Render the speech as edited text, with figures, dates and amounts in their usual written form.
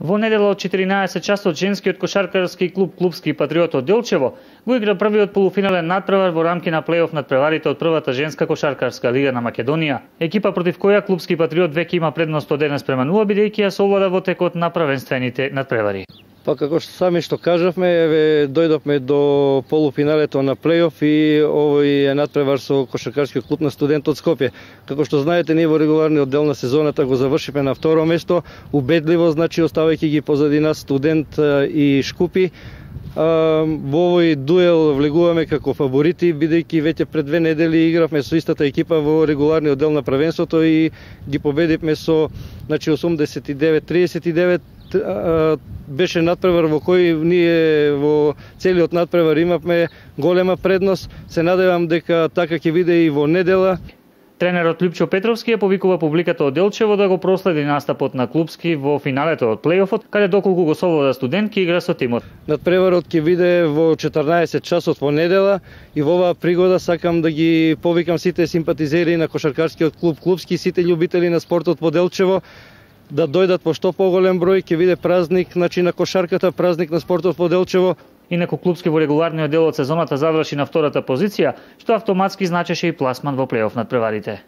Во недела од 14 часот женскиот кошаркарски клуб Клупски патриот од Делчево го игра првиот полуфинален надпревар во рамки на плейоф надпреварите од првата женска кошаркарска лига на Македонија. Екипа против која Клупски патриот веќе има предност од 1-0, бидејќи ја совлада во текот на првенствените надпревари. Па како што сами кажавме, дојдовме до полуфиналето на плейоф и овој е надпревар со кошаркарскиот клуб на Студентот Скопје. Како што знаете, ние во регуларниот дел на сезоната го завршивме на второ место, убедливо, значи оставајќи ги позади нас Студент и Шкупи. Во овој дуел влегуваме како фаворити, бидејќи веќе пред 2 недели игравме со истата екипа во регуларниот дел на првенството и ги победивме со 89-39. Беше надпревар во кој ние во целиот надпревар имавме голема предност. Се надевам дека така ќе биде и во недела. Тренерот Лјупчо Петровски ја повикува публиката од Делчево да го проследи настапот на Клупски во финалето од плейофот, каде доколку го совлада Студент ќе игра со тимот. Надпреварот ќе биде во 14 часот во недела и во оваа пригода сакам да ги повикам сите симпатизери на кошаркарскиот клуб Клупски, сите љубители на спортот во Делчево, да дојдат во што поголем број. Ќе биде празник на кошарката, празник на спортот во Делчево. Инаку Клупски во регуларниот дел од сезоната заврши на втората позиција, што автоматски значеше и пласман во плейоф надпреварите.